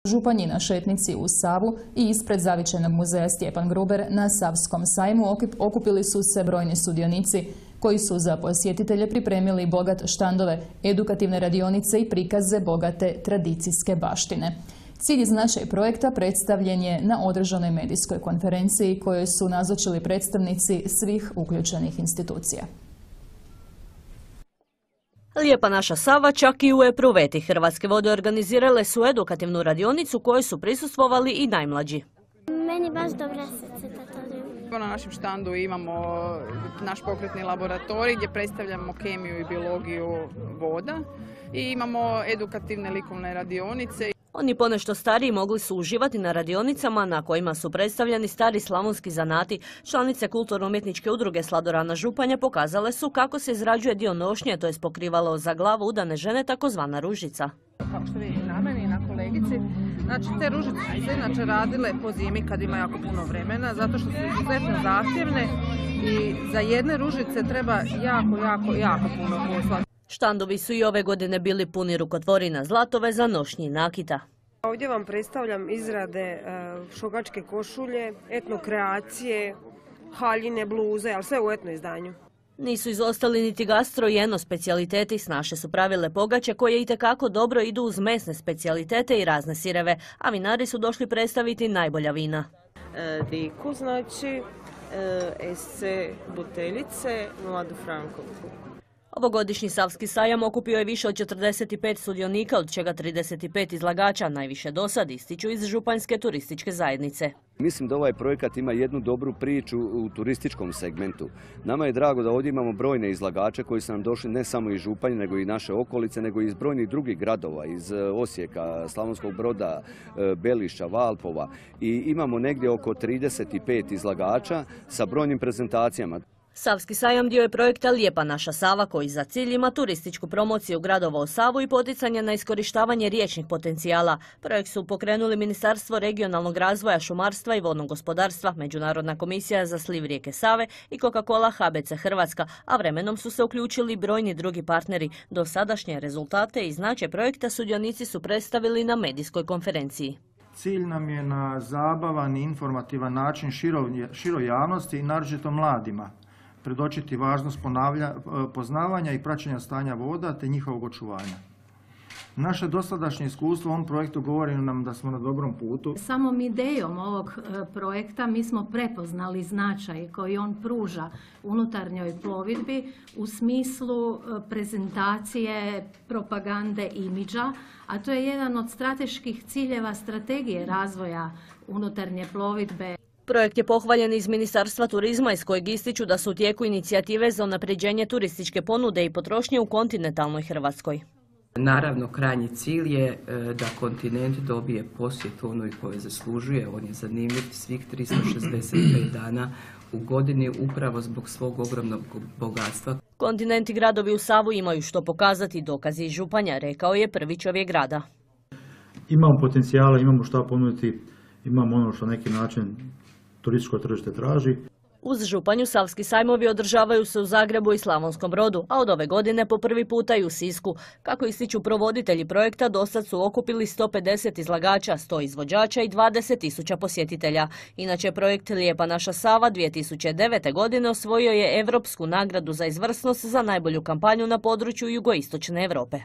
Županji na šetnici uz Savu i ispred Zavičajnog muzeja Stjepan Gruber na Savskom sajmu okupili su se brojni sudionici koji su za posjetitelje pripremili bogat štandove, edukativne radionice i prikaze bogate tradicijske baštine. Cilj i značaj projekta predstavljen je na održanoj medijskoj konferenciji kojoj su nazočili predstavnici svih uključenih institucija. Lijepa naša Sava čak i u epruveti Hrvatske vode organizirale su edukativnu radionicu kojoj su prisustvovali i najmlađi. Meni baš dobro se to. Na našem štandu imamo naš pokretni laboratorij gdje predstavljamo kemiju i biologiju voda i imamo edukativne likovne radionice. Oni ponešto stariji mogli su uživati na radionicama na kojima su predstavljeni stari slavonski zanati. Članice kulturno-umjetničke udruge Sladorana Županja pokazale su kako se izrađuje dio nošnje, to je pokrivalo za glavu udane žene, takozvana ružica. Kako što vidite na meni i na kolegici, znači te ružice su se inače radile po zimi kad ima jako puno vremena, zato što su izuzetno zahtjevne i za jedne ružice treba jako puno posla. Štandovi su i ove godine bili puni rukotvorina, zlatove za nošnji i nakita. Ovdje vam predstavljam izrade šokačke košulje, etno kreacije, haljine, bluze, ali sve u etno izdanju. Nisu izostali niti gastro i eno specijaliteti, snaše su pravile pogače koje itekako dobro idu uz mesne specijalitete i razne sireve, a vinari su došli predstaviti najbolja vina. Diku, znači, SC buteljice, Mladu Frankovku. Ovogodišnji Savski sajam okupio je više od 45 sudionika, od čega 35 izlagača, najviše dosad, ističu iz Županjske turističke zajednice. Mislim da ovaj projekat ima jednu dobru priču u turističkom segmentu. Nama je drago da ovdje imamo brojne izlagače koji su nam došli ne samo iz Županje, nego i naše okolice, nego i iz brojnih drugih gradova, iz Osijeka, Slavonskog Broda, Belišća, Valpova. I imamo negdje oko 35 izlagača sa brojnim prezentacijama. Savski sajam dio je projekta Lijepa naša Sava koji za cilj ima turističku promociju gradova u Savu i poticanje na iskorištavanje riječnih potencijala. Projekt su pokrenuli Ministarstvo regionalnog razvoja, šumarstva i vodnog gospodarstva, Međunarodna komisija za sliv rijeke Save i Coca-Cola HBC Hrvatska, a vremenom su se uključili brojni drugi partneri. Do sadašnje rezultate i značaj projekta sudionici su predstavili na medijskoj konferenciji. Cilj nam je na zabavan i informativan način široj javnosti i naročito mladima predočiti važnost poznavanja i praćenja stanja voda te njihovog očuvanja. Naše dosadašnje iskustvo u ovom projektu govori nam da smo na dobrom putu. Samom idejom ovog projekta mi smo prepoznali značaj koji on pruža unutarnjoj plovidbi u smislu prezentacije, propagande, imidža, a to je jedan od strateških ciljeva strategije razvoja unutarnje plovidbe. Projekt je pohvaljen iz Ministarstva turizma iz kojeg ističu da su u tijeku inicijative za unapređenje turističke ponude i potrošnje u kontinentalnoj Hrvatskoj. Naravno, krajnji cilj je da kontinent dobije posjetu onoj koje zaslužuje. On je zanimljiv svih 365 dana u godini upravo zbog svog ogromnog bogatstva. Kontinent i gradovi u Savu imaju što pokazati, dokazi iz Županja, rekao je prvi čovjek grada. Imamo potencijala, imamo što ponuditi, imamo ono što na neki način turističko tržište traži. Uz Županju Savski sajmovi održavaju se u Zagrebu i Slavonskom Brodu, a od ove godine po prvi puta i u Sisku. Kako ističu provoditelji projekta, dosad su okupili 150 izlagača, 100 izvođača i 20.000 posjetitelja. Inače, projekt Lijepa naša Sava 2009. godine osvojio je Europsku nagradu za izvrsnost za najbolju kampanju na području jugoistočne Europe.